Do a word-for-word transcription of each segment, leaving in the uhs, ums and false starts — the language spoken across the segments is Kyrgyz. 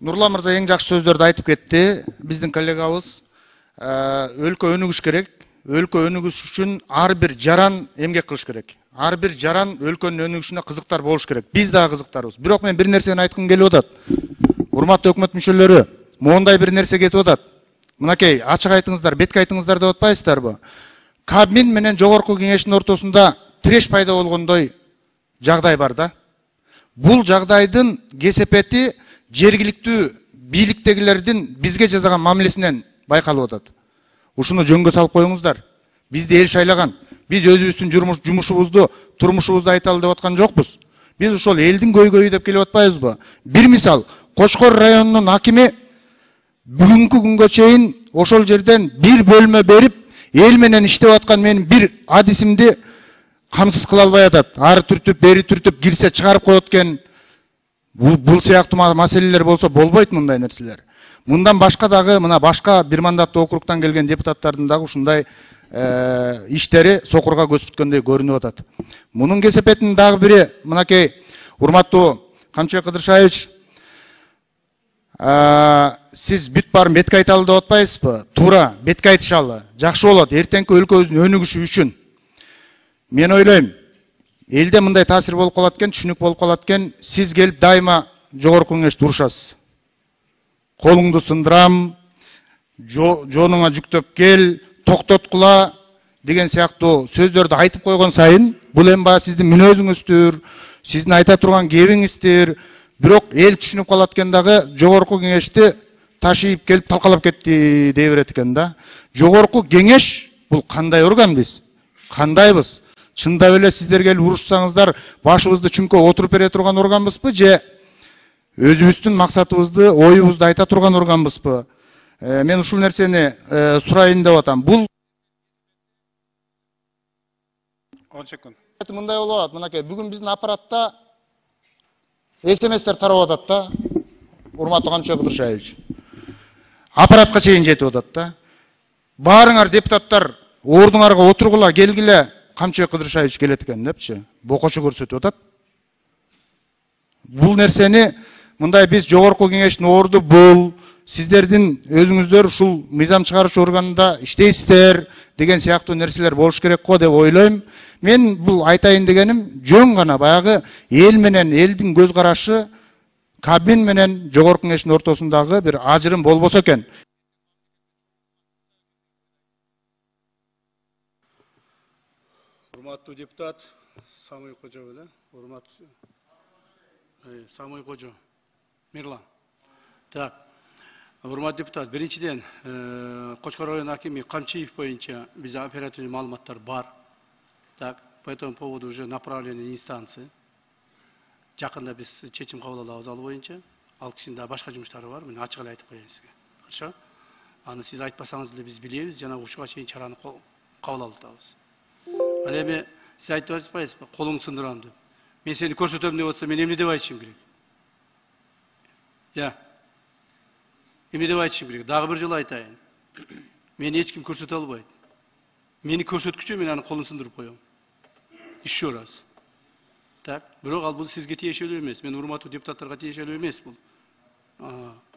Нурлан мырза эң жакшы сөздөрдү айтып кетти. Биздин коллегабыз өлкө өнүгүш керек. Өлкө өнүгүш үчүн ар бир жаран эмгек кылыш керек. Ар бир жаран өлкөнүн өнүгүшүнө кызыктар болуш керек. Биз дагы кызыктарбыз. Бирок мен бир нерсени айткым келип атат. Урматтуу өкмөт мүчөлөрү, моундай бир нерсе кетип атат. Мынакей, ачык айтыңыздар, бетке айтыңыздар деп атпайсыздарбы? Кабмин менен жогорку кеңештин ортосунда тиреш пайда болгондой жагдай бар да. Бул жагдайдын кесепети жергиликтүү бийликтегилердин бизге жасаган мамилесинен байкалып атат. Ушуну жөнгө салып коюңуздар. Бизди эл шайлаган. Биз өзүбүздүн жумушубузду, турмушубузду айталы деп аткан жокпуз. Биз ошол элдин көйгөйү деп келип атпайбызбы? Бир мисал, Кочкор районунун акими бүгүнкү күнгө чейин ошол жерден бир бөлмө берип, эл менен иштеп аткан менин бир адисимди камсыз кыла албай атат. Ары түртүп, бери түртүп, кирсе чыгарып коет экен. Бул бул сыяктуу маселелер болсо болбойт мындай нерселер. Мындан башка дагы мына башка бир мандаттуу округтан келген депутаттардын дагы ушундай иштери сокурга көз бүткөндөй көрүнүп атат. Мунун кесепетинин дагы бири мынакей урматтуу Камчыбек Кыдыршаевич, сиз бүт баарын бетке айталы деп атпайсызбы? Туура, бетке айтышалы. Жакшы болот, эртеңки өлкөбүздүн өнүгүшү үчүн. Мен ойлойм, элде мындай таасир болуп калат экен, түшүнүк болуп калат экен, сиз келип дайыма жогорку кеңеште урушасыз. Колуңду сындырам, жонуңа жүктөп кел, токтоткула деген сыяктуу сөздөрдү айтып койгон сайын, бул эми баягы сиздин мүнөзүңүздүр, сиздин айта турган кебиңиздир. Бирок эл түшүнүп калат экен дагы, жогорку кеңешти ташыйып келип талкалап кетти дей берет экен да. Жогорку кеңеш бул кандай орган биз? Кандайбыз? Чындап эле сиздер келип урушсаңыздар, башыбызды чүңкө отуруп бере турган органбызбы же өзүбүздүн максатыбызды, оюбузду айта турган органбызбы? Мен ушул нерсени сурайын деп атам. Бул он секунд. Мындай болуп атат, мынакей бүгүн биздин аппаратта эсеместер тарап атат да. Урматтуу Камчыбек Кыдыршаевич. Аппаратка чейин жетип атат да. Баарыңар депутаттар ордуңарга отургула, келгиле, Камчыбек Кыдыршаевич келет экен депчи, бокочу көрсөтүп атат. Бул нерсени мындай биз жогорку кеңештин орду бул, сиздердин өзүңүздөр ушул мыйзам чыгаруучу органда иштейсиздер деген сыяктуу нерселер болуш керек го деп ойлойм. Мен бул айтайын дегеним жөн гана баягы эл менен элдин көз карашы Кабмин менен жогорку кеңештин ортосундагы бир ажырым болбосо экен. Урматтуу депутат Самый Кожо беле, урматтуу Самый Кожо Мирлан. Так. Урматтуу депутат, биринчиден Кочкор районунун акими Камчиев боюнча бизде оперативный маалыматтар бар. Так, по этому поводу уже направлены инстанции. Жакында биз чечим кабыл алабыз ал боюнча. Ал кишинин да башка жумуштары бар. Мен ачык эле айтып коеюн сизге. Хорошо? Аны сиз айтпасаңыз деле биз билебиз, жана ушуга чейин чараны кабыл алып атабыз. Ал эми сиз айтып атпайсызбы, колуңду сындырам деп. Мен сени көрсөтөм деп атса, мен эмне деп айтышым керек? Я. Эмне деп айтышым керек? Дагы бир жолу айтайын. Мени эч ким көрсөтө албайт. Мени көрсөткүчө мен аны колун сындырып коем. Еще раз. Так, бирок ал бул сизге тиешелүү эмес. Мен урматтуу депутаттарга тиешелүү эмес бул.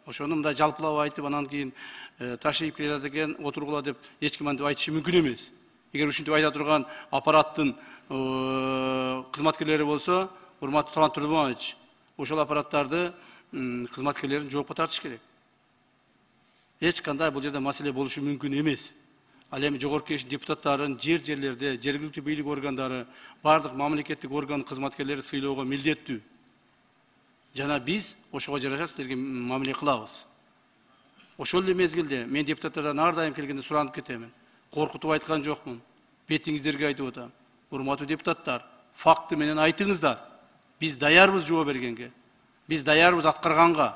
Ошону мындай жалпылап айтып, анан кийин ташыйып келет экен, отургула деп эч ким антип айтышы мүмкүн эмес. Эгер ушинтип айта турган аппараттын кызматкерлери болсо, урматтуу Талант Турдумович, ошол аппараттарды кызматкерлерин жоопко тартыш керек. Эч кандай бул жерде маселе болушу мүмкүн эмес. Ал эми жогорку кеңештин депутаттарын жер жерлерде, жергиликтүү бийлик органдары, бардык мамлекеттик орган кызматкерлери сыйлоого милдеттүү. Жана биз ошого жараша силерге мамиле кылабыз. Ошол эле мезгилде мен депутаттардан ар дайым келгенде суранып кетемин. Коркутуп айткан жокмун. Бетиңиздерге айтып атам. Урматтуу депутаттар, факты менен айтыңыздар. Биз даярбыз жооп бергенге. Биз даярбыз аткарганга.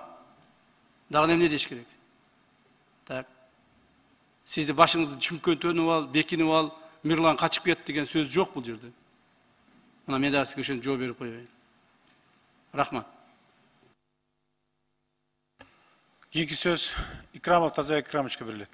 Дагы эмне деш керек? Так. Сизди башыңызды чүмкөнтөнүп ал, бекинип ал, Мирлан качып кет деген сөз жок бул жерде. Мына мен дагы сизге ошентип жооп берип коеюн. Рахмат. Кийинки сөз Икрамов Тазабек Икрамовичке берилет.